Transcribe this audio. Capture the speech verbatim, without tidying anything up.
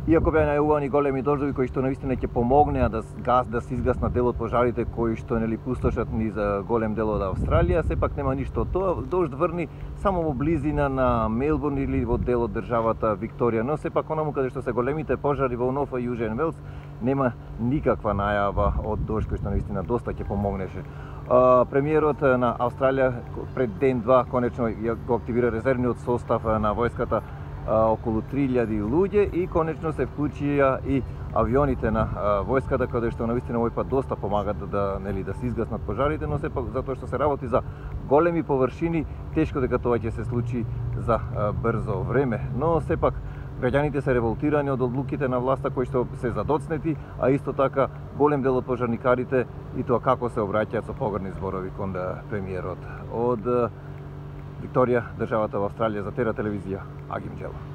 Иако беа најавувани големи дождови кои што навистина ќе помогнеа да газ да се изгаснат дел од пожарите кои што нели пустошат низ голем дел од Австралија, сепак нема ништо од тоа. Дожд врни само во близина на Мелбурн или во дел од државата Викторија, но сепак онаму каде што се големите пожари во Нов и Јужен Велс нема никаква најава од дожд кој што навистина доста ќе помогнеше. Премиерот на Австралија пред ден-два конечно го активира резервниот состав на војската, околу три илјади луѓе, и конечно се вклучија и авионите на војската, каде што навистина овој пат доста помагат да нели да се изгаснат пожарите, но сепак затоа што се работи за големи површини, тешко дека тоа ќе се случи за брзо време. Но сепак граѓаните се револтирани од одлуките на власта кои што се задоцнети, а исто така голем дел од пожарникарите и тоа како се обраќаат со погрни зборови кон премиерот. Од Викторија, државата во Австралија, за Тера телевизија, Агим Джело.